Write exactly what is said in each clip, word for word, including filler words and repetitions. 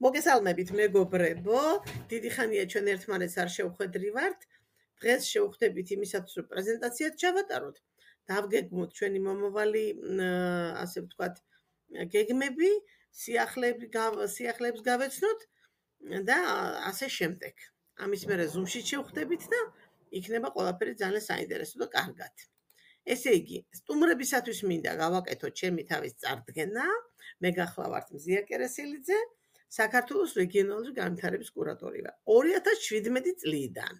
მოგესალმებით მეგობრებო, დიდი ხანია ჩვენ ერთმანეთს არ შევხვედრივართ. დღეს შევხვდებით იმისათვის, რომ პრეზენტაციად ჩავატაროთ. დავგეგმოთ ჩვენი მომავალი, ასე ვთქვათ, გეგმები, სიახლეები, სიახლეებს გავეცნოთ და ასე შემდეგ. ამის მერე Zoom-ში შევხვდებით და იქნება ყველაფერი ძალიან საინტერესო და კარგად. ესე იგი, სტუმრებისათვის მინდა გავაკეთოთ ჩემი თავის წარდგენა. მე გახლავართ მზია კერესელიძე, საქართველოს რეგიონალური განვითარების კურატორი ვარ. ორი ათას შვიდმეტი წლიდან.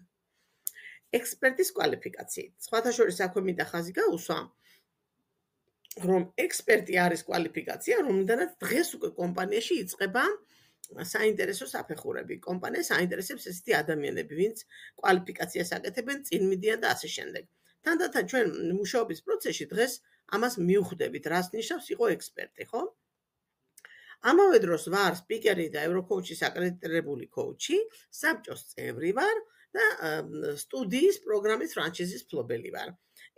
ექსპერტის კვალიფიკაციით. სხვათა შორის აქვე მინდა ხაზი გაუსვა, რომ ექსპერტი არის კვალიფიკაცია, რომლიდანაც დღეს უკვე კომპანიაში იწყება საინტერესო საფეხურები. კომპანიას აინტერესებს ესეთი ადამიანები, ვინც კვალიფიკაციას აკეთებენ, წინ მიდიან და ასე შემდეგ. თანდათან ჩვენ მუშაობის პროცესში დღეს ამას მივხვდებით, რას ნიშნავს იყო ექსპერტი, ხო? ამავე დროს ვარ სპიკერი და ევროკოუჩის აკრედიტირებული კოუჩი, საბჭოს წევრი ვარ და სტუდიის პროგრამის ფრანჩიზის მფლობელი ვარ.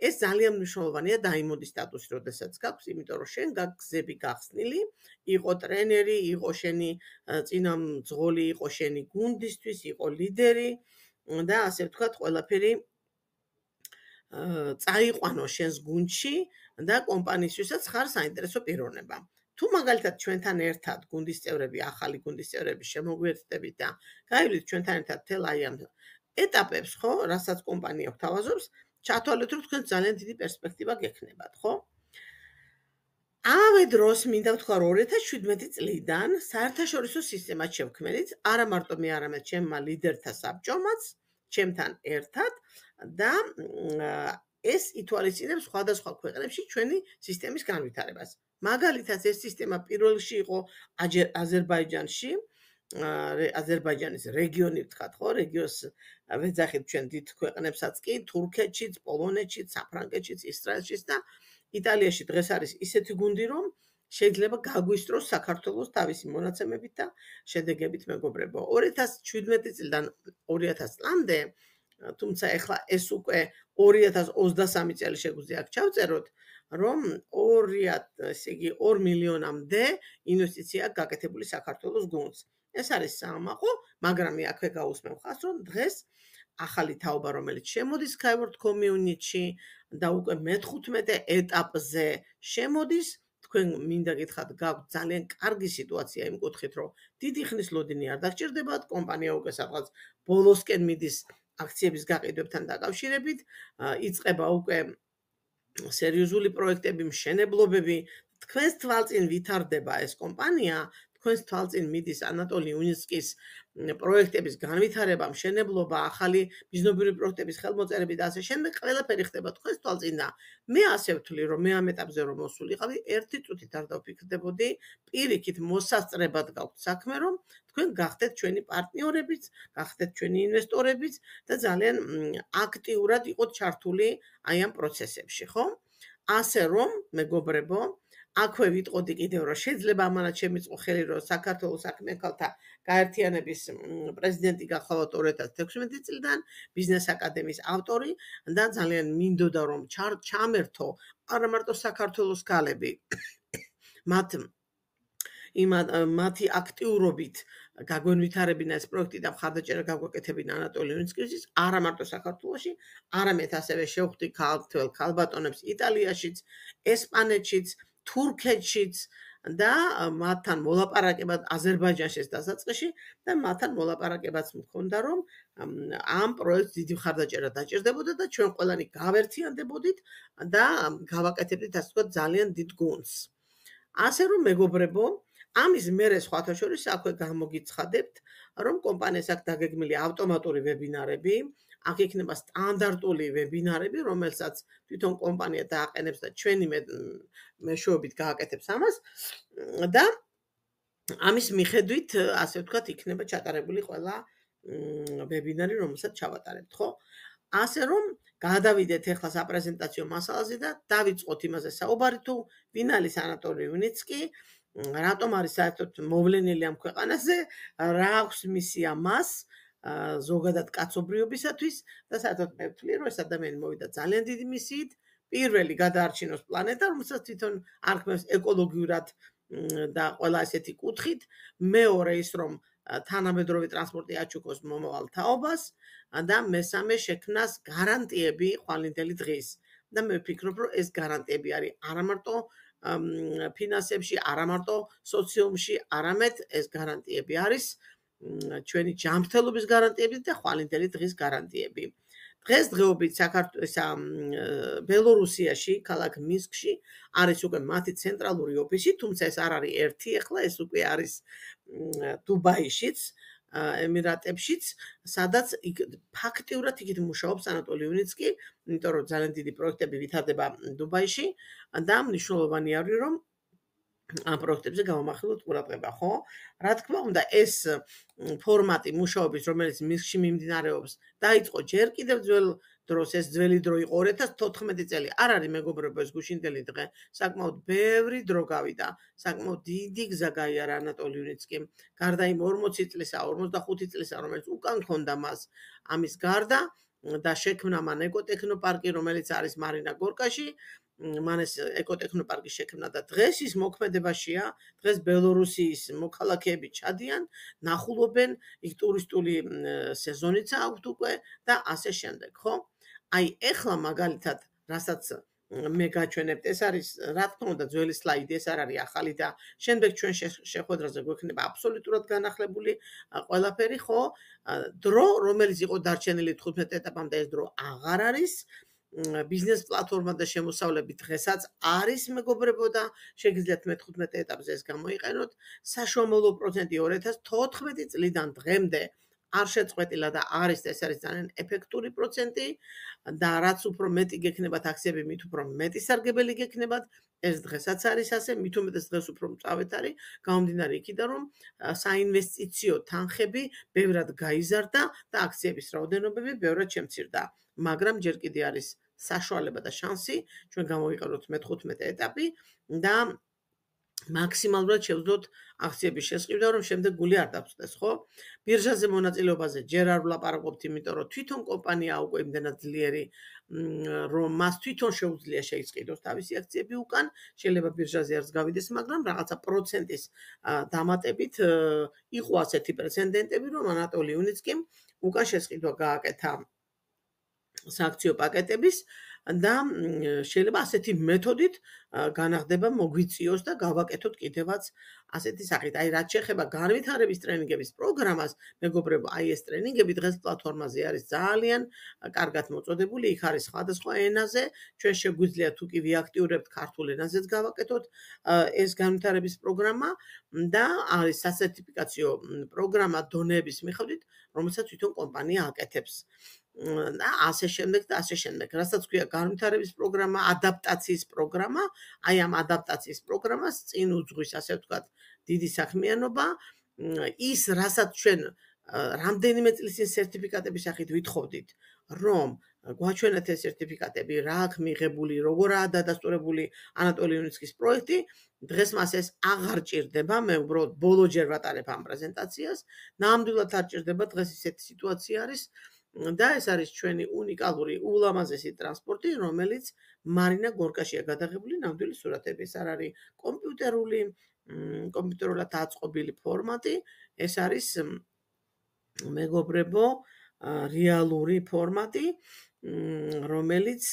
ეს ძალიან მნიშვნელოვანია დაიმონდის სტატუსი, როდესაც გაქვს, იმიტომ რომ შენ გაგზები გახსნილი, იყო ტრენერი, იყო შენი წინამძღოლი, იყო შენი გუნდისთვის, იყო ლიდერი და ასე ვთქვათ, ყველაფერი წაიყვანო შენს გუნდში და კომპანიისთვისაც ხარ საინტერესო პიროვნება. თუ მაგალითად ჩვენთან ერთად გუნდის წევრები, ახალი გუნდის წევრები შემოგვიერთდებით და გაივლით ჩვენთან ერთად თელ აი ამ ეტაპებს, ხო, რასაც კომპანია გვთავაზობს, ჩათვალეთ, რომ თქვენ ძალიან დიდი პერსპექტივა გექნებათ, ხო? ამავე დროს მინდა ვთქვა, რომ ორი ათას შვიდმეტი წლიდან საერთაშორისო სისტემას შევქმნით, არა მარტო მე, არამედ ჩემმა ლიდერთა საბჭომაც, ჩემთან ერთად და ეს ითვალისწინებს სხვადასხვა ქვეყნებში ჩვენი სისტემის განვითარებას. მაგალითად, ეს სისტემა პირველ რიგში იყო აზერბაიჯანში, აზერბაიჯანის რეგიონი ვთქვათ, ხო, რეგიონს ვეძახით ჩვენ დიდ ქვეყნებსაც კი, თურქეთშიც, პოლონეთშიც, საფრანგეთშიც, ისრაელშიც და იტალიაში დღეს არის ისეთი გუნდი, რომ შეიძლება გაგვისწროს საქართველოს თავისი მონაცემებით და შედეგებით მეგობრებო. ორი ათას შვიდმეტი წლიდან ორი ათას წლამდე, თუმცა ეხლა ეს უკვე ორი ათას ოცდასამი წელი შეგვიძლია აქ ჩავწეროთ, რომ ორი ესე იგი ორ მილიონამდე ინვესტიცია გაკეთებული საქართველოს გუნდს. ეს არის საამაყო, მაგრამ მე აქვე გაუსმევ ხაზს, რომ დღეს ახალი თაობა, რომელიც შემოდის Skyward Community-ში და უკვე მეთერთმეტე ეტაპზე შემოდის, თქვენ მინდა გითხრათ, გაქვთ ძალიან კარგი სიტუაცია იმ კუთხით, რომ დიდი ხნის ლოდინი არ დაგჭირდებათ, კომპანია უკვე სადღაც ბოლოსკენ მიდის აქციების გაყიდვებთან დაკავშირებით, იწყება უკვე სერიოზული პროექტები, მშენებლობები, თქვენს თვალწინ ვითარდება ეს კომპანია, თქვენს თვალწინ მიდის ანატოლი უნიცკის პროექტების განვითარება, მშენებლობა, ახალი ბიზნესური პროექტების ხელმოწერები და ასე შემდეგ, ყველაფერი ხდება თქვენს თვალწინ და მე ასე ვთვლი, რომ მე ამ ეტაპზე რომ მოსულიყავი, ერთი წუთით არ დავფიქრდებოდი, პირიქით მოსასწრებად გაქვთ საქმე, რომ თქვენ გახდეთ ჩვენი პარტნიორებიც, გახდეთ ჩვენი ინვესტორებიც და ძალიან აქტიურად იყოთ ჩართული აი ამ პროცესებში, ხო? ასე რომ, მეგობრებო, აქვე ვიტყოდი კიდევ, რომ შეიძლება ამანაც შემიწყო ხელი, რომ საქართველოს საქმიანთა გაერთიანების პრეზიდენტი გახლავთ ორი ათას თექვსმეტი წლიდან, ბიზნეს აკადემიის ავტორი და ძალიან მინდოდა, რომ ჩამერთო არა მარტო საქართველოს ქალები, მათ მათი აქტიურობით გაგვენვითარებინა ეს პროექტი და მხარდაჭერა გაგვაკეთებინა ანატოლი უნიცკის, არა მარტო საქართველოში, არამედ ასევე შევხვდი ქალთვალ ქალბატონებს იტალიაშიც, ესპანეთშიც, თურქეთშიც და მათთან მოლაპარაკებად აზერბაიჯანშიც დასაწყისში და მათთან მოლაპარაკებაც მქონდა, რომ ამ პროექტს დიდი მხარდაჭერა დაჭირდებოდა და ჩვენ ყველანი გავერთიანდებოდით და გავაკეთებდით ასე ვთქვათ ძალიან დიდ გუნდს. ასე რომ მეგობრებო, ამის მერე სხვათა შორის აქვე გამოგიცხადებთ, რომ კომპანიას აქვს დაგეგმილი ავტომატური ვებინარები, აქ იქნება სტანდარტული ვებინარები, რომელსაც თვითონ კომპანია დააყენებს და ჩვენი მეშვეობით გააკეთებს ამას და ამის მიხედვით, ასე ვთქვათ, იქნება ჩატარებული ყველა ვებინარი, რომელსაც ჩავატარებთ, ხო? ასე რომ გადავიდეთ ახლა საპრეზენტაციო მასალაზე და დავიწყოთ იმაზე საუბარი, თუ ვინ არის ანატოლი უნიცკი, რატომ არის საერთოდ მოვლენილი ამ ქვეყანაზე, რა აქვს მისია მას ზოგადად კაცობრიობისათვის და საერთოდ მე ვთვლი, რომ ეს ადამიანი მოვიდა ძალიან დიდი მისიით, პირველი გადაარჩინოს პლანეტა, რომელსაც თვითონ არქმევს ეკოლოგიურად და ყველა ესეთი კუთხით, მეორე ის რომ თანამედროვე ტრანსპორტი აჩუქოს მომავალ თაობას და მესამე შექმნას გარანტიები ხვალინდელი დღის. და მე ვფიქრობ, რომ ეს გარანტიები არის არა მარტო ფინანსებში, არა მარტო სოციუმში, არამედ ეს გარანტიები არის ჩვენი ჯანმრთელობის გარანტიები და ხვალინდელი დღის გარანტიები. დღესდღეობით საქართველოს ბელორუსიაში, ქალაქ მინსკში არის უკვე მათი ცენტრალური ოფისი, თუმცა ეს არ არის ერთი, ახლა ეს უკვე არის დუბაიშიც, ემირატებშიც, სადაც ფაქტიურად იქით მუშაობს ანატოლი უნიცკი, იმიტომ რომ ძალიან დიდი პროექტები ვითარდება დუბაიში და მნიშვნელოვანი არის რომ ამ პროექტებზე გამომახვილოთ ყურადღება, ხო? რა თქმა უნდა, ეს ფორმატი მუშაობის, რომელიც მინსკში მიმდინარეობს, დაიწყო ჯერ კიდევ ძველ დროს, ეს ძველი დრო იყო ორი ათას თოთხმეტი წელი. არ არის მეგობრებო, ეს გუშინდელი დღე, საკმაოდ ბევრი დრო გავიდა, საკმაოდ დიდი გზა გაიარა ანატოლი უნიცკიმ. გარდა იმ ორმოცი წლისა, ორმოცდახუთი წლისა, რომელიც უკან ჰქონდა მას ამის გარდა და შექმნა მან ეკოტექნოპარკი, რომელიც არის მარინა გორკაში. მან ეს ეკოტექნოპარკი შექმნა და დღეს ის მოქმედებაშია. დღეს ბელორუსიის მოქალაქეები ჩადიან, ნახულობენ, იქ ტურისტული სეზონიც აქვთ უკვე და ასე შემდეგ, ხო? აი, ეხლა მაგალითად, რასაც მე გაჩვენებთ, ეს არის, რა თქმა უნდა, ძველი სლაიდი, ეს არ არის ახალი და შემდეგ ჩვენ შეხვედრაზე გვექნება აბსოლუტურად განახლებული ყველაფერი, ხო? დრო, რომელიც იყო დარჩენილი თხუთმეტ ეტაპამდე, ეს დრო აღარ არის. ბიზნეს პლატფორმა და შემოსავლები დღესაც არის მეგობრებო და შეგიძლიათ მეთხუთმეტ ეტაპზე ეს გამოიყენოთ. საშუალო პროცენტი ორი ათას თოთხმეტი წლიდან დღემდე არ შეწყვეტილა და არის ეს არის ძალიან ეფექტური პროცენტი და რაც უფრო მეტი გექნებათ აქციები, მით უფრო მეტი სარგებელი გექნებათ. ეს დღესაც არის ასე, მით უმეტეს დღეს უფრო მწავედ არის, გამომდინარე იქიდან რომ საინვესტიციო თანხები ბევრად გაიზარდა და აქციების რაოდენობები ბევრად შემცირდა. მაგრამ ჯერ კიდე არის საშუალება და შანსი ჩვენ გამოვიყენოთ მეთხუთმეტე ეტაპი და მაქსიმალურად შევძლოთ აქციების შესყიდვა, რომ შემდეგ გული არ დაგწდეს, ხო? ბირჟაზე მონაწილეობაზე ჯერ არ ვლაპარაკობთ, იმიტომ რომ თვითონ კომპანია უკვე იმდენად ძლიერი, რომ მას თვითონ შეუძლია შეიწყიდოს თავისი აქციები უკან, შეიძლება ბირჟაზე არც გავიდეს, მაგრამ რაღაცა პროცენტის დამატებით იყო ასეთი პრეცედენტები, რომ ანატოლი უნიცკიმ უკან შესყიდვა გააკეთა სააქციო პაკეტების და შეიძლება ასეთი მეთოდით განახდება მოგვიწიოს და გავაკეთოთ კიდევაც ასეთი სახით. აი, რაც შეეხება განვითარების ტრენინგების პროგრამას, მეგობრებო, აი ეს ტრენინგები დღეს პლატფორმაზე არის ძალიან კარგად მოწოდებული, იქ არის სხვადასხვა ენაზე, ჩვენ შეგვიძლია თუ კი ვიაქტიურებთ ქართულ ენაზეც გავაკეთოთ ეს განვითარების პროგრამა და არის სასერტიფიკაციო პროგრამა დონეების მიხედვით, რომელსაც თვითონ კომპანია აკეთებს. და ასე შემდეგ და ასე შემდეგ. რასაც ქვია განვითარების პროგრამა, ადაპტაციის პროგრამა, აი ამ ადაპტაციის პროგრამას წინ უძღვის, ასე ვთქვათ, დიდი საქმიანობა. ის, რასაც ჩვენ რამდენიმე წლის წინ სერტიფიკატების სახით ვითხოვდით, რომ გვაჩვენეთ ეს სერტიფიკატები, რა აქვს მიღებული, როგორაა დადასტურებული ანატოლი უნიცკის პროექტი, დღეს მას ეს აღარ ჭირდება, მე უბრალოდ ბოლოჯერ ვატარებ ამ პრეზენტაციას, ნამდვილად არ ჭირდება, დღეს ისეთი სიტუაცია არის. და ეს არის ჩვენი უნიკალური ულამაზესი ტრანსპორტი, რომელიც მარინა გორკაშია გადაღებული ნამდვილი სურათები. ეს არ არის კომპიუტერული, კომპიუტერულად აწყობილი ფორმატი, ეს არის მეგობრებო, რეალური ფორმატი, რომელიც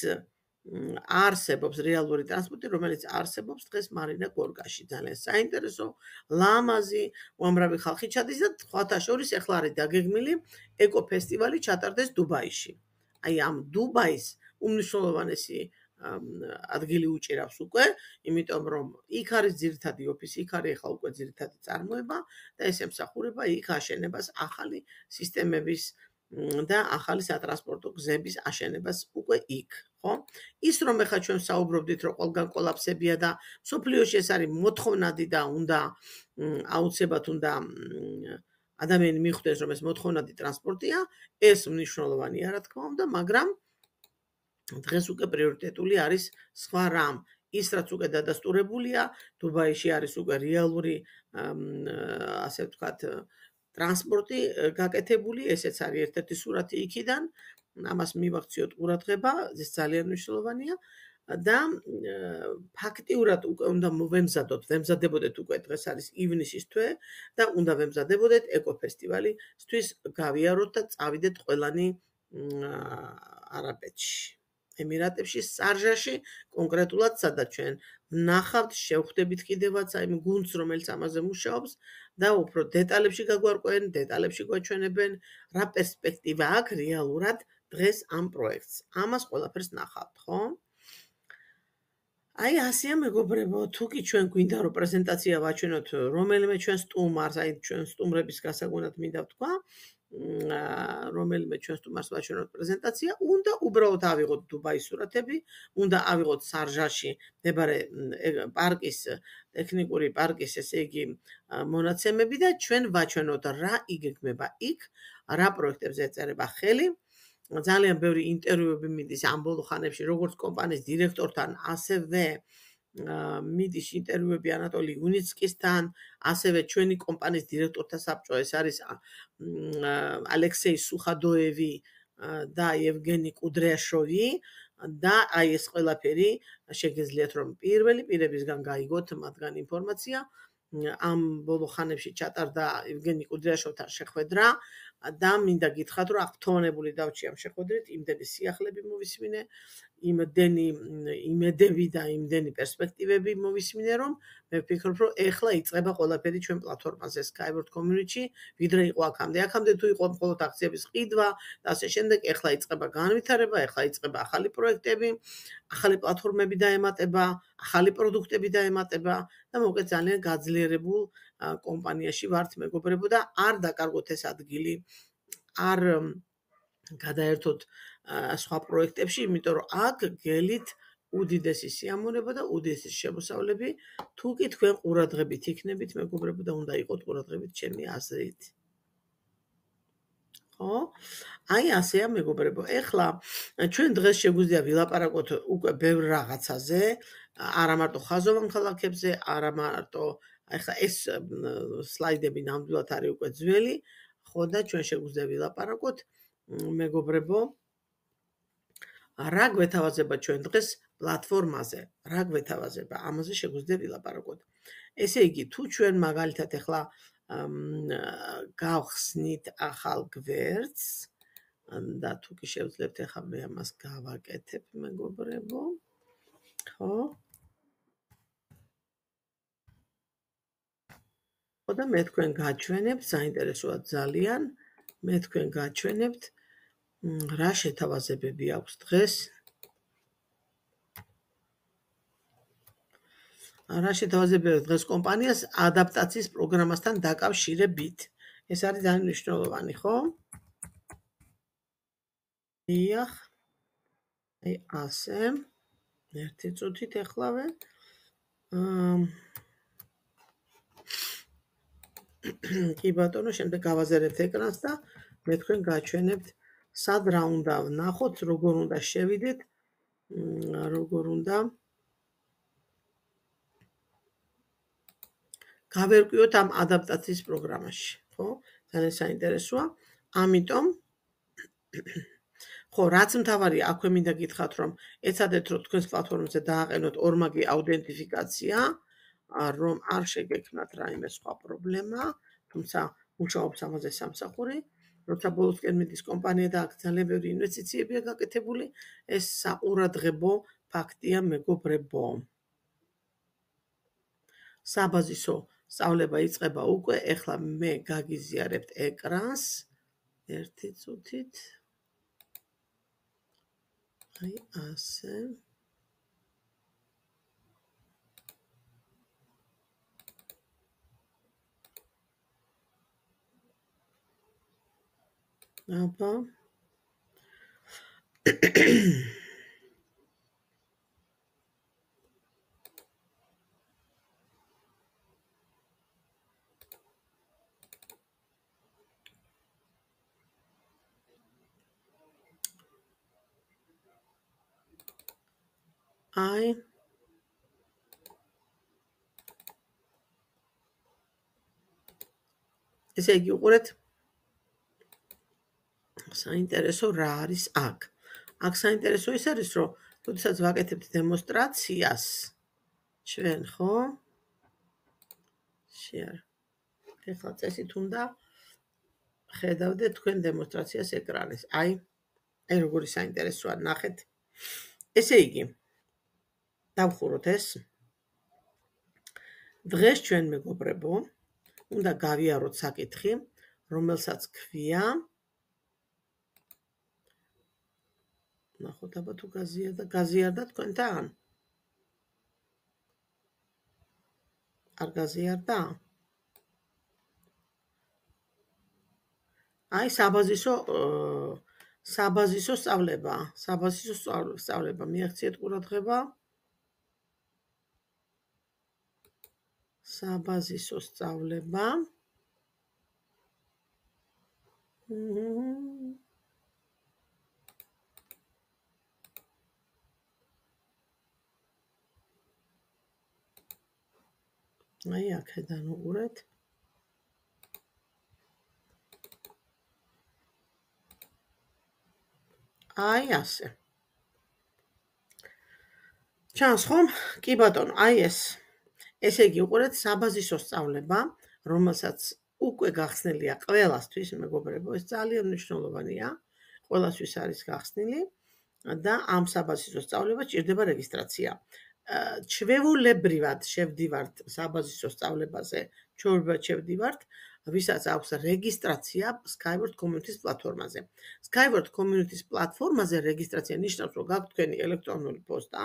არსებობს, რეალური ტრანსპორტი, რომელიც არსებობს დღეს მარინა გორკაში. ძალიან საინტერესო, ლამაზი, უამრავი ხალხი ჩადის და სხვათა შორის ახლა არის დაგეგმილი ეკოფესტივალი ჩატარდეს დუბაიში. აი ამ დუბაის უმნიშვნელოვანესი ადგილი უჭირავს უკვე, იმიტომ რომ იქ არის ძირითადი ოფისი, იქ არის ახლა უკვე ძირითადი წარმოება და ეს ემსახურება იქ აშენებას ახალი სისტემების და ახალი სატრანსპორტო გზების აშენებას უკვე იქ, ხო? ის რომ ახლა ჩვენ საუბრობდით, რომ ყველგან კოლაფსებია და მსოფლიოში ეს არის მოთხოვნადი და უნდა აუცილებლად უნდა ადამიანი მიხვდეს, რომ ეს მოთხოვნადი ტრანსპორტია, ეს მნიშვნელოვანია, რა თქმა უნდა, მაგრამ დღეს უკვე პრიორიტეტული არის სხვა რამ. ის რაც უკვე დადასტურებულია, დუბაიში არის უკვე რეალური, ასე ვთქვათ, ტრანსპორტი გაკეთებული, ესეც არის ერთ-ერთი სურათი იქიდან, ამას მივაქციოთ ყურადღება, ეს ძალიან მნიშვნელოვანია და ფაქტიურად უკვე უნდა მოვემზადოთ, ვემზადებოდეთ უკვე დღეს არის ივნისის თვე და უნდა ვემზადებოდეთ ეკოფესტივალისთვის გავიაროთ და წავიდეთ ყველანი არაბეთში, ემირატებში, სარჟაში, კონკრეტულად სადაც ჩვენ ვნახავთ, შევხვდებით კიდევაც აი იმ გუნდს, რომელიც ამაზე მუშაობს და უფრო დეტალებში გაგვარკვევენ, დეტალებში გვაჩვენებენ, რა პერსპექტივა აქვს რეალურად დღეს ამ პროექტს. ამას ყველაფერს ნახავთ, ხო? აი ასეა მეგობრებო, თუ კი ჩვენ გვინდა რომ პრეზენტაცია ვაჩვენოთ რომელიმე ჩვენ სტუმარს, აი ჩვენ სტუმრების გასაგონად მინდა ვთქვა, რომელიმე ჩვენ სტუმარს ვაჩვენოთ პრეზენტაცია, უნდა უბრალოდ ავიღოთ დუბაის სურათები, უნდა ავიღოთ სარჟაში მდებარე პარკის, ტექნიკური პარკის, ესე იგი, მონაცემები და ჩვენ ვაჩვენოთ რა იგეგმება იქ, რა პროექტებზე ეწერება ხელი. ძალიან ბევრი ინტერვიუები მიდის ამ ბოლო ხანებში, როგორც კომპანიის დირექტორთან, ასევე მიდის ინტერვიუები ანატოლი იუნიცკისთან, ასევე ჩვენი კომპანიის დირექტორთა საბჭო, ეს არის ალექსეი სუხადოევი და ევგენი კუდრიაშოვი და აი ეს ყველაფერი შეგეძლიათ რომ პირველი პირებისგან გაიგოთ მათგან ინფორმაცია. ამ ბოლო ხანებში ჩატარდა ევგენი კუდრიაშოვთან შეხვედრა და მინდა გითხრათ რომ აღფრთოვანებული დავჭი ამ შეხვედრით, იმდენი სიახლეები მოვისმინე, იმდენი იმედები და იმდენი პერსპექტივები მოვისმინე, რომ მე ვფიქრობ, რომ ეხლა იწყება ყველაფერი ჩვენ პლატფორმაზე Skyward Community, ვიდრე იყო აქამდე. აქამდე თუ იყო მხოლოდ აქციების ყიდვა და ასე შემდეგ, ეხლა იწყება განვითარება, ეხლა იწყება ახალი პროექტები, ახალი პლატფორმები დაემატება, ახალი პროდუქტები დაემატება და მოკეთ ძალიან გაძლიერებულ კომპანიაში ვართ მეგობრებო და არ დაკარგოთ ეს ადგილი, არ გადაერთოთ სხვა პროექტებში, იმიტომ რომ აქ გელით უდიდესი სიამოვნება და უდიდესი შემოსავლები, თუ კი თქვენ ყურადღებით იქნებით მეგობრებო და უნდა იყოთ ყურადღებით ჩემი აზრით. ხო? აი ასეა მეგობრებო. ეხლა ჩვენ დღეს შეგვიძლია ვილაპარაკოთ უკვე ბევრ რაღაცაზე, არა მარტო ხაზოვან ქალაქებზე, არა მარტო ეხლა ეს სლაიდები ნამდვილად არის უკვე ძველი, ხო და ჩვენ შეგვიძლია ვილაპარაკოთ მეგობრებო, რა გვეთავაზება ჩვენ დღეს პლატფორმაზე, რა გვეთავაზება, ამაზე შეგვიძლია ვილაპარაკოთ. ესე იგი, თუ ჩვენ მაგალითად ეხლა გავხსნით ახალ გვერდს და თუ კი შევძლებთ ეხლა მე ამას გავაკეთებ მეგობრებო, ხო? ხო და მე თქვენ გაჩვენებთ, საინტერესოა ძალიან, მე თქვენ გაჩვენებთ რა შეთავაზებები აქვს დღეს. რა შეთავაზებები აქვს დღეს კომპანიას ადაპტაციის პროგრამასთან დაკავშირებით. ეს არის ძალიან მნიშვნელოვანი, ხო? დიახ. აი ასე. ერთი წუთით ეხლავე. კი ბატონო, შემდეგ გავაზერებთ ეკრანს და მე თქვენ გაჩვენებთ სად რა უნდა ვნახოთ, როგორ უნდა შევიდეთ, როგორ უნდა გავერკვიოთ ამ ადაპტაციის პროგრამაში, ხო? ძალიან საინტერესოა. ამიტომ ხო, რაც მთავარია, აქვე მინდა გითხრათ, რომ ეცადეთ, რომ თქვენს პლატფორმაზე დააყენოთ ორმაგი აუდენტიფიკაცია, რომ არ შეგექმნათ რაიმე სხვა პრობლემა, თუმცა მუშაობს ამაზე სამსახური. როცა ბოლოსკენ მიდის კომპანია და აქ ძალიან ბევრი ინვესტიციებია გაკეთებული, ეს საყურადღებო ფაქტია მეგობრებო. საბაზისო სწავლება იწყება უკვე, ეხლა მე გაგიზიარებთ ეკრანს. ერთი წუთით. აი ასე. აბა. აი ესე იგი უყურეთ საინტერესო რა არის აქ. აქ საინტერესო ის არის, რომ როდესაც ვაკეთებთ დემონსტრაციას, ჩვენ ხო? share. ეხლა წესით უნდა ხედავდეთ თქვენ დემონსტრაციას ეკრანეს. აი, აი როგორი საინტერესოა, ნახეთ. ესე იგი, დავხუროთ ეს. დღეს ჩვენ მეგობრებო, უნდა გავიაროთ საკითხი, რომელსაც ქვია ნახოთ აბა თუ გაზიარდა, გაზიარდა თქვენთან? არ გაზიარდა? აი საბაზისო საბაზისო სწავლება, საბაზისო სწავლება მიაღწიეთ ყურადღება. საბაზისო სწავლება. აი აქედან უყურეთ. აი ასე. ჩანს ხომ? კი ბატონო, აი ეს. ესე იგი უყურეთ საბაზისო სწავლება, რომელსაც უკვე გახსნილია ყველასთვის, მეგობრებო, ეს ძალიან მნიშვნელოვანია. ყველასთვის არის გახსნილი და ამ საბაზისო სწავლებას ჭირდება რეგისტრაცია. ჩვეულებრივად შევდივართ საბაზისო სწავლებაზე, ჩვეულებრივად შევდივართ, ვისაც აქვს რეგისტრაცია Skyward Community-ს პლატფორმაზე. Skyward Community-ს პლატფორმაზე რეგისტრაცია ნიშნავს, რომ გაქვთ თქვენი ელექტრონული პოსტა,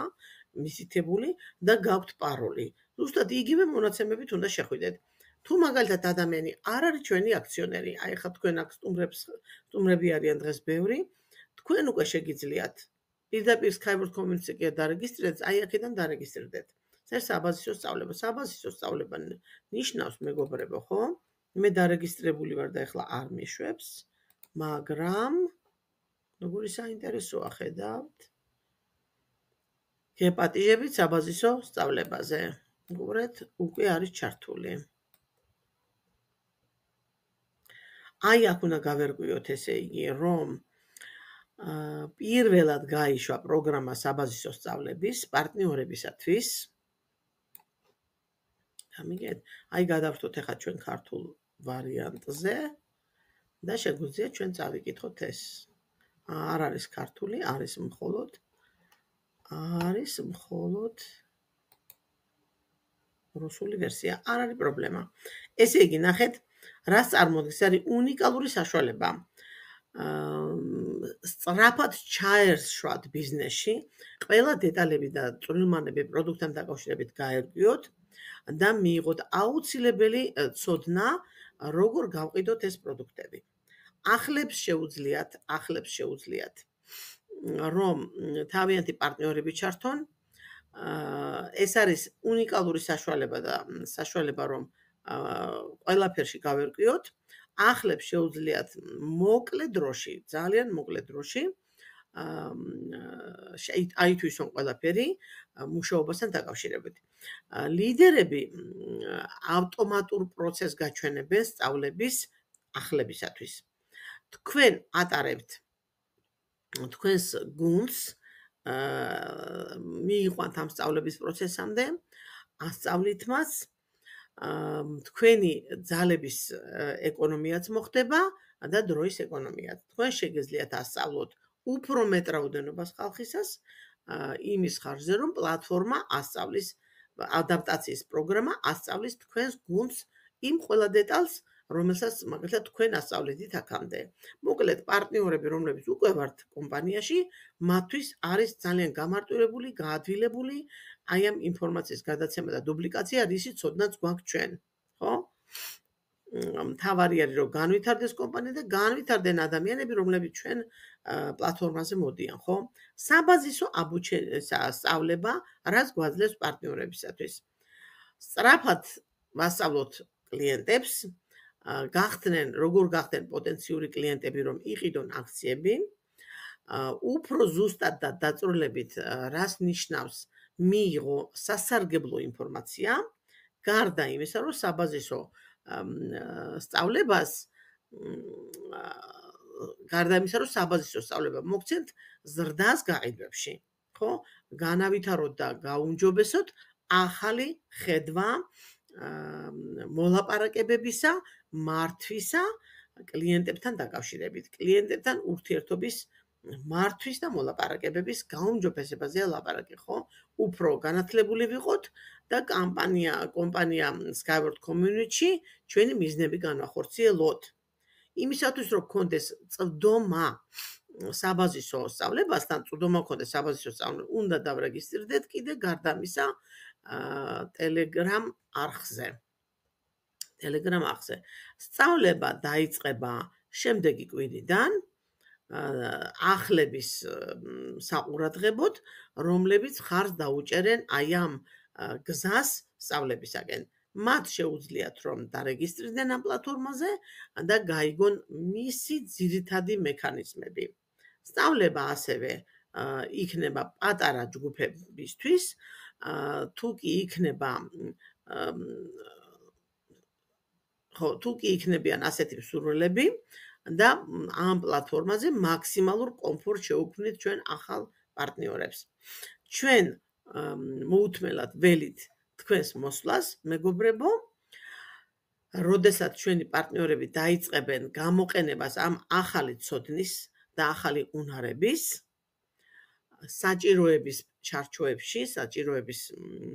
მისითებული და გაქვთ პაროლი. ზუსტად იგივე მონაცემებით უნდა შეხვიდეთ. თუ მაგალითად ადამიანი არ არის ჩვენი აქციონერი, აი ხა თქვენ აქ სტუმრებს სტუმრები არიან დღეს ბევრი, თქვენ უკვე შეგიძლიათ პირდაპირ Skyward Community-ზე კი დარეგისტრირდეთ, აი აქედან დარეგისტრირდეთ. ეს საბაზისო სწავლება, საბაზისო სწავლება ნიშნავს მეგობრებო, ხო? მე დარეგისტრირებული ვარ და ეხლა არ მიშვებს, მაგრამ როგორი საინტერესოა ხედავთ. გეპატიჟებით საბაზისო სწავლებაზე. უყურეთ, უკვე არის ჩართული. აი აქ უნდა გავერკვიოთ ესე იგი, რომ პირველად გაიშვა პროგრამა საბაზისო სწავლების პარტნიორებისათვის. გამიგეთ? აი გადავხტოთ ახლა ჩვენ ქართულ ვარიანტზე და შეგვიძლია ჩვენ წავიკითხოთ ეს. არ არის ქართული, არის მხოლოდ არის მხოლოდ რუსული ვერსია. არ არის პრობლემა. ესე იგი, ნახეთ, რას წარმოადგენს, არის უნიკალური საშუალება. სწრაფად ჩაერშვათ ბიზნესში, ყველა დეტალები და წვრილმანები პროდუქტთან დაკავშირებით გაერკვიოთ და მიიღოთ აუცილებელი ცოდნა, როგორ გავყიდოთ ეს პროდუქტები. ახლებს შეუძლიათ, ახლებს შეუძლიათ, რომ თავიანთი პარტნიორები ჩართონ. ეს არის უნიკალური საშუალება და საშუალება, რომ ყველაფერში გავერკვიოთ. ახლებს შეუძლიათ მოკლე დროში, ძალიან მოკლე დროში აითვისონ ყველაფერი მუშაობასთან დაკავშირებით. ლიდერები ავტომატურ პროცესს გაჩვენებენ სწავლების ახლებისათვის. თქვენ ატარებთ თქვენს გუნდს მიიყვანთ ამ სწავლების პროცესამდე, ასწავლით მას, თქვენი ძალების ეკონომიაც მოხდება და დროის ეკონომიაც. თქვენ შეგეძლიათ ასწავლოთ უფრო მეტ რაოდენობას ხალხისას იმის ხარჯზე, რომ პლატფორმა ასწავლის, ადაპტაციის პროგრამა ასწავლის თქვენს გუნდს იმ ყველა დეტალს, რომელსაც მაგალითად თქვენ ასწავლეთით აქამდე. მოკლედ, პარტნიორები, რომლებიც უკვე ვართ კომპანიაში, მათთვის არის ძალიან გამარტივებული, გაადვილებული აი ამ ინფორმაციის გადაცემა და დუბლიკაცია, რისი ცოდნაც გვაქვს ჩვენ, ხო? მთავარი არის, რომ განვითარდეს კომპანია და განვითარდნენ ადამიანები, რომლებიც ჩვენ პლატფორმაზე მოდიან, ხო? საბაზისო სწავლება, რაც გვაძლევს პარტნიორებისათვის. სწრაფად ვასწავლოთ კლიენტებს, გახდნენ, როგორ გახდნენ პოტენციური კლიენტები, რომ იყიდონ აქციები, უფრო ზუსტად და დაწვრილებით, რას ნიშნავს მიიღო სასარგებლო ინფორმაცია, გარდა იმისა, რომ საბაზისო სწავლებას გარდა იმისა, რომ საბაზისო სწავლება მოგცემთ ზრდას გაყიდვებში, ხო? განავითაროთ და გაუმჯობესოთ ახალი ხედვა მოლაპარაკებებისა, მართვისა კლიენტებთან დაკავშირებით, კლიენტებთან ურთიერთობის მართვის და მოლაპარაკებების გაუმჯობესებაზე ლაპარაკი, ხო? უფრო განათლებული ვიყოთ და კამპანია, კომპანია Skyward Community ჩვენი მიზნები განვახორციელოთ. იმისათვის რომ გქონდეს წვდომა საბაზისო სწავლებასთან, წვდომა გქონდეს საბაზისო სწავლებას, უნდა დავრეგისტრირდეთ კიდე გარდა ამისა Telegram არხზე. Telegram არხზე. სწავლება დაიწყება შემდეგი კვირიდანახლების საყურადღებოდ, რომლებიც ხარს დაუჭერენ აი ამ გზას სწავლებისაკენ. მათ შეუძლიათ რომ დარეგისტრირდნენ ამ პლატფორმაზე და გაიგონ მისი ძირითადი მექანიზმები. სწავლება ასევე იქნება პატარა ჯგუფებისთვის, თუ კი იქნება ხო, თუ კი იქნებიან ასეთი მსურველები და ამ პლატფორმაზე მაქსიმალურ კომფორტს შევქმნით ჩვენ ახალ პარტნიორებს. ჩვენ მოუთმელად ველით თქვენს მოსვლას, მეგობრებო, როდესაც ჩვენი პარტნიორები დაიწყებენ გამოყენებას ამ ახალი ცოდნის და ახალი უნარების, საჭიროების ჩარჩოებში, საჭიროების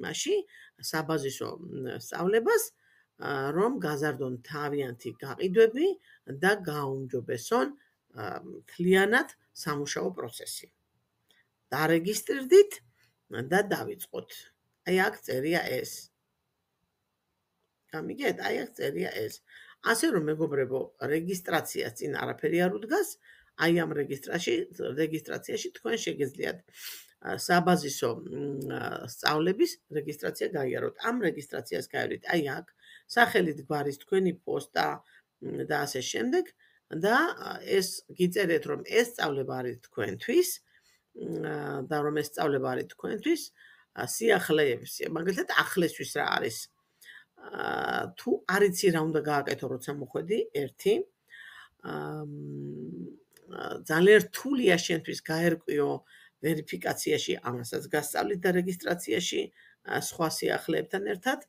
მასში, საბაზისო სწავლებას, რომ გაზარდონ თავიანთი გაყიდვები და გაუმჯობესონ მთლიანად სამუშაო პროცესი. დარეგისტრირდით და დავიწყოთ. აი აქ წერია ეს. გამიგეთ, აი აქ წერია ეს. ასე რომ მეგობრებო, რეგისტრაციას წინ არაფერი არ უდგას, აი ამ რეგისტრაციაში, რეგისტრაციაში თქვენ შეგეძლიათ საბაზისო სწავლების რეგისტრაცია გაიაროთ. ამ რეგისტრაციას გაიარეთ აი აქ, სახელით გვარის თქვენი პოსტა და ასე შემდეგ და ეს გიწერეთ რომ ეს სწავლება არის თქვენთვის და რომ ეს სწავლება არის თქვენთვის სიახლეების, მაგალითად ახლესთვის რა არის. თუ არ იცი რა უნდა გააკეთო, როცა მოხვედი, ერთი ძალიან რთულია შენთვის გაერკვიო ვერიფიკაციაში, ამასაც გასწავლით და რეგისტრაციაში სხვა სიახლეებთან ერთად.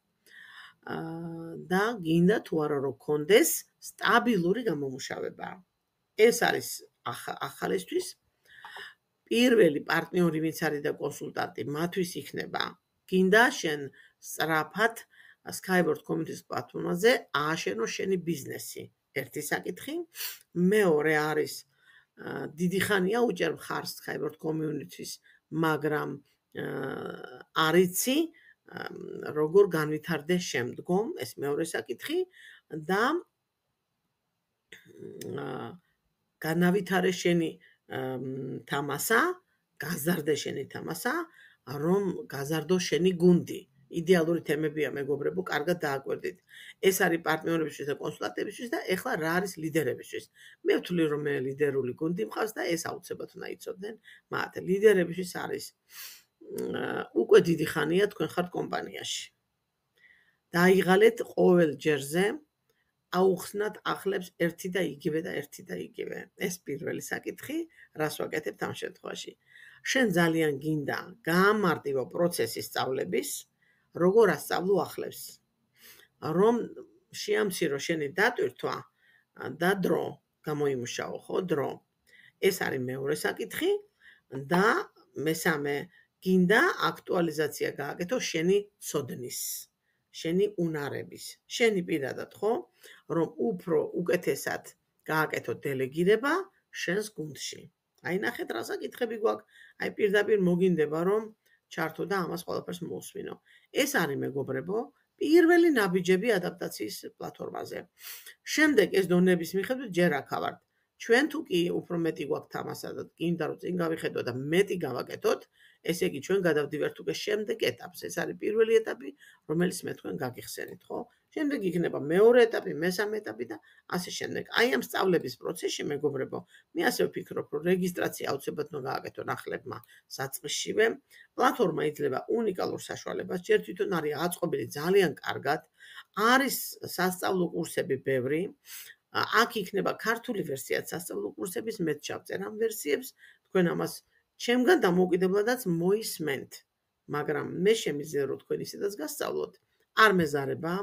და გინდა თუ არა რომ გქონდეს სტაბილური გამომუშავება. ეს არის ახალისთვის. პირველი პარტნიორი ვინც არის და კონსულტანტი, მათთვის იქნება. გინდა შენ სწრაფად Skyward Community პლატფორმაზე ააშენო შენი ბიზნესი. ერთი საკითხი. მეორე არის დიდი ხანია უჭერ მხარს Skyward Community-ს, მაგრამ არიცი როგორ განვითარდე შემდგომ, ეს მეორე საკითხი და განავითარე შენი თამასა, გაზარდე შენი თამასა, რომ გაზარდო შენი გუნდი. იდეალური თემებია მეგობრებო, კარგად დააკვირდით. ეს არის პარტნიორებისთვის და კონსულტანტებისთვის და ეხლა რა არის ლიდერებისთვის. მე ვთვლი რომ მე ლიდერული გუნდი მყავს და ეს აუცილებლად უნდა იცოდნენ მათ. ლიდერებისთვის არის უკვე დიდი ხანია თქვენ ხართ კომპანიაში. დაიღალეთ ყოველ ჯერზე აუხსნათ ახლებს ერთი და იგივე და ერთი და იგივე. ეს პირველი საკითხი, რას ვაკეთებთ ამ შემთხვევაში. შენ ძალიან გინდა გაამარტივო პროცესი სწავლების, როგორ ასწავლო ახლებს. რომ შეამცირო შენი დატვირთვა და დრო, გამოიმუშაო, ხო, დრო. ეს არის მეორე საკითხი და მესამე გინდა აქტუალიზაცია გააკეთო შენი ცოდნის, შენი უნარების, შენი პირადად, ხო, რომ უფრო უკეთესად გააკეთო დელეგირება შენს გუნდში. აი ნახეთ რა საკითხები გვაქვს, აი პირდაპირ მოგინდება რომ ჩართო და ამას ყველაფერს მოусმინო. ეს არის მეგობრებო, პირველი ნაბიჯები ადაპტაციის პლატფორმაზე. შემდეგ ეს დონების მიხედვით ჯერ აქავართ. ჩვენ თუ კი უფრო მეტი გვაქვს თამასა და გინდა რომ წინ გავიხედო და მეტი გავაკეთოთ, ესე იგი ჩვენ გადავდივართ უკვე შემდეგ ეტაპს. ეს არის პირველი ეტაპი, რომელიც მე თქვენ გაგიხსენით, ხო? შემდეგ იქნება მეორე ეტაპი, მესამე ეტაპი და ასე შემდეგ. აი ამ სწავლების პროცესში მეგობრებო, მე ასე ვფიქრობ, რომ რეგისტრაცია აუცილებლად უნდა გააკეთონ ახლებმა საწყისშივე. პლატფორმა იძლევა უნიკალურ საშუალებას, ჯერ თვითონ არის აწყობილი ძალიან კარგად, არის სასწავლო კურსები ბევრი. აქ იქნება ქართული ვერსიაც სასწავლო კურსების, მეც ჩავწერ ამ ვერსიებს, თქვენ ამას ჩემგან დამოუკიდებლადაც მოისმენთ, მაგრამ მე შემიძლია რომ თქვენ ისედაც გასწავლოთ. არ მეზარება,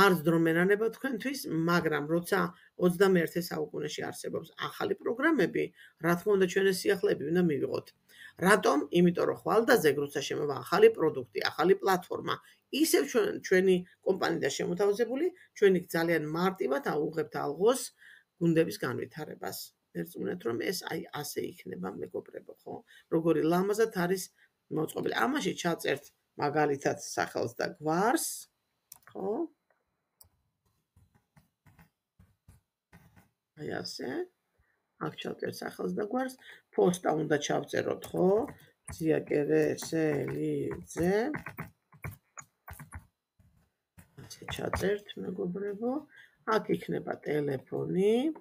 არც დრო მენანება თქვენთვის, მაგრამ როცა ოცდამეერთე საუკუნეში არსებობს ახალი პროგრამები, რა თქმა უნდა ჩვენი სიახლეები უნდა მივიღოთ. რატომ? იმიტომ რომ ხვალდაზეგ როცა შემოვა ახალი პროდუქტი, ახალი პლატფორმა, ისევ ჩვენ ჩვენი კომპანია შემოთავაზებული, ჩვენი ძალიან მარტივად აუღებთ ალღოს გუნდების განვითარებას. ერწმუნეთ რომ ეს აი ასე იქნება, მეგობრებო, ხო? როგორი ლამაზად არის მოწყობილი. ამაში ჩაწერთ მაგალითად სახელს და გვარს, ხო? აი ასე. აქ ჩავწერთ სახელს და გვარს, პოსტა უნდა ჩავწეროთ, ხო? ზია კერესელიძე. ასე ჩაწერთ, მეგობრებო. აქ იქნება ტელეფონი.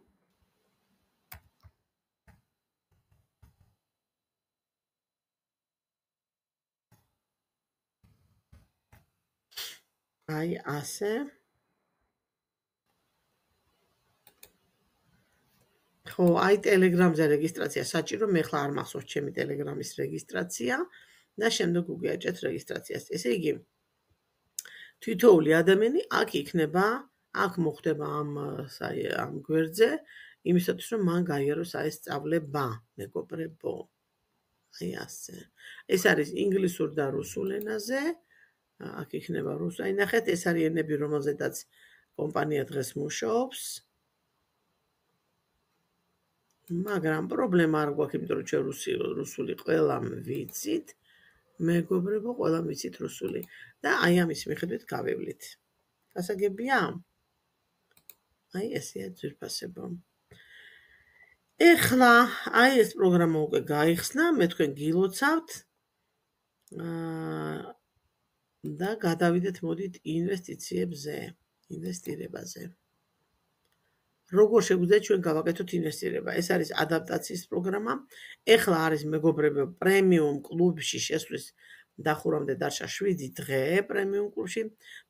აი ასე. ხო, აი ტელეგრამზე რეგისტრაცია საჭირო, მე ხლა არ მახსოვს ჩემი ტელეგრამის რეგისტრაცია და შემდეგ უგიაჭეთ რეგისტრაციას. ესე იგი, თითოეული ადამიანი აქ იქნება, აქ მოხდება ამ ამ გვერდზე, იმისათვის რომ მან გაიაროს აი ეს სწავლება, მეგობრებო. აი ასე. ეს არის ინგლისურ და რუსულ ენაზე. აქ იქნება რუსული. ნახეთ, ეს არის ენები, რომელზედაც კომპანია დღეს მუშაობს. მაგრამ პრობლემა არ გვაქვს, იმიტომ რომ ჩვენ რუსული ყველამ ვიცით. მეგობრებო, ყველამ ვიცით რუსული და აი ამის მიხედვით გავევლით. გასაგებია? აი ესეა ძვირფასებო. ეხლა აი ეს პროგრამა უკვე გაიხსნა, მე თქვენ გილოცავთ. აა და გადავიდეთ მოდით ინვესტიციებზე, ინვესტირებაზე. როგორ შეგვიძლია ჩვენ გავაკეთოთ ინვესტირება? ეს არის ადაპტაციის პროგრამა. ეხლა არის მეგობრებო პრემიუმ კლუბში შესვლის დახურამდე დარჩა შვიდი დღე პრემიუმ კლუბში.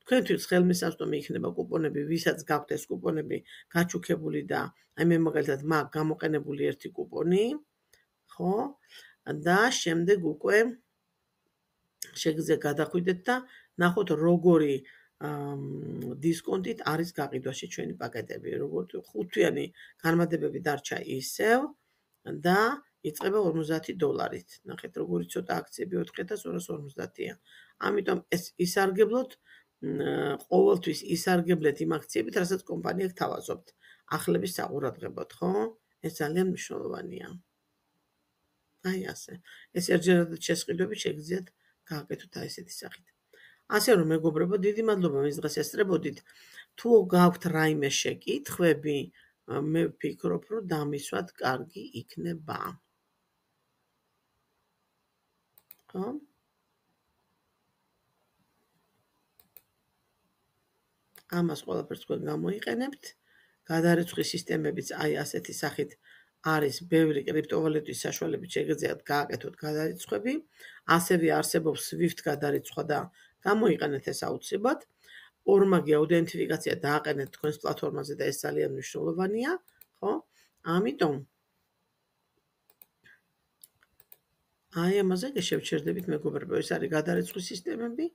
თქვენთვის ხელმისაწვდომი იქნება კუპონები, ვისაც გაქვთ ეს კუპონები გაჩუქებული და აი მე მაგალითად მაგ გამოყენებული ერთი კუპონი, ხო? და შემდეგ უკვე შეგიძლიათ გადახვიდეთ და ნახოთ როგორი დისკონტით არის გაყიდვაში ჩვენი პაკეტები, როგორც ხუთვიანი განმადებები დარჩა ისევ და იწყება ორმოცდაათი დოლარით. ნახეთ, როგორი ცოტა აქციები ოთხი ათას ორას ორმოცდაათია. ამიტომ ეს ისარგებლოთ, ყოველთვის ისარგებლეთ იმ აქციებით, რასაც კომპანია გთავაზობთ. ახლების საყურადღებოდ, ხო? ეს ძალიან მნიშვნელოვანია. აი ასე. ეს ერთჯერადად შესყიდვები შეგიძლიათ გააკეთოთ აი ესეთი სახით. ასე რომ მეგობრებო, დიდი მადლობა მის დღეს ესწრებოდით. თუ გაქვთ რაიმე შეკითხვები, მე ვფიქრობ, რომ დამისვათ კარგი იქნება. ხო? ამას ყველაფერს თქვენ გამოიყენებთ. გადარიცხვის სისტემებიც აი ასეთი სახით არის ბევრი კრიპტოვალუტის საშუალებით შეგიძლიათ გააკეთოთ გადარიცხვები. ასევე არსებობს Swift გადარიცხვა და გამოიყენეთ ეს აუცილებლად. ორმაგი აუდენტიფიკაცია დააყენეთ თქვენს პლატფორმაზე და ეს ძალიან მნიშვნელოვანია, ხო? ამიტომ აი ამაზე შევჩერდებით მეგობრებო, ეს არის გადარიცხვის სისტემები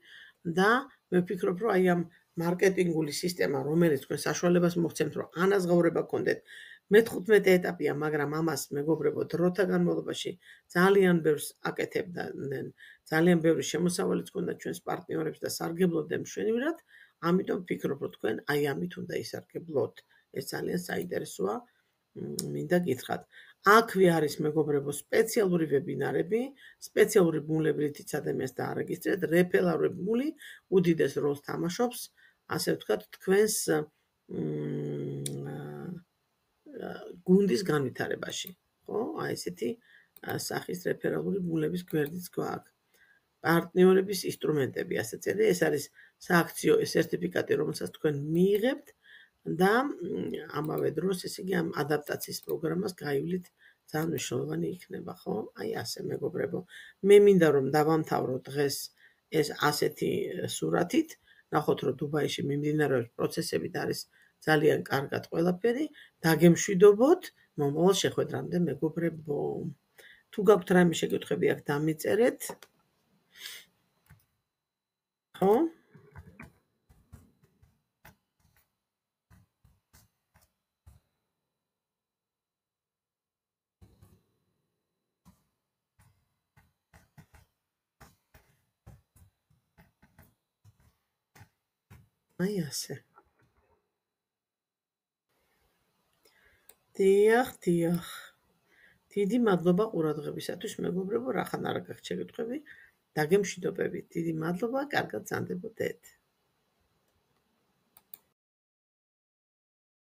და მე ვფიქრობ, რომ აი ამ მარკეტინგული სისტემა, რომელიც თქვენ საშუალებას მოგცემთ, რომ ანაზღაურება გქონდეთ, მეთხუთმეტე ეტაპია, მაგრამ ამას მეგობრებო დროთა განმავლობაში ძალიან ბევრს აკეთებდნენ, ძალიან ბევრი შემოსავალიც გქონდა ჩვენს პარტნიორებს და სარგებლობდნენ მშვენივრად, ამიტომ ვფიქრობ, რომ თქვენ აი ამით უნდა ისარგებლოთ. ეს ძალიან საინტერესოა, მინდა გითხრათ. აქვე არის მეგობრებო სპეციალური ვებინარები, სპეციალური ბმულებრითიც ადამიანს დაარეგისტრირეთ, რეფერალური ბმული უდიდეს როლს თამაშობს, ასე ვთქვათ, თქვენს გუნდის განვითარებაში, ხო? აი ესეთი სახის რეფერალური ბმულების გვერდიც გვაქვს. პარტნიორების ინსტრუმენტები, ასე წერია, ეს არის სააქციო სერტიფიკატი, რომელსაც თქვენ მიიღებთ და ამავე დროს, ესე იგი, ამ ადაპტაციის პროგრამას გაივლით, ძალიან მნიშვნელოვანი იქნება, ხო? აი ასე მეგობრებო. მე მინდა რომ დავამთავრო დღეს ეს ასეთი სურათით, ნახოთ რომ დუბაიში მიმდინარეობს პროცესები და არის ძალიან კარგად ყველაფერი, დაგემშვიდობოთ მომავალ შეხვედრამდე მეგობრებო. თუ გაქვთ რამე შეკითხვები აქ დამიწერეთ. ხო? აი ასე. დიახ, დიახ. დიდი მადლობა ყურადღებისათვის, მეგობრებო, რახან არა გაქვთ შეკითხვები, დაგემშვიდობებით. დიდი მადლობა, კარგად ზანდებოდეთ.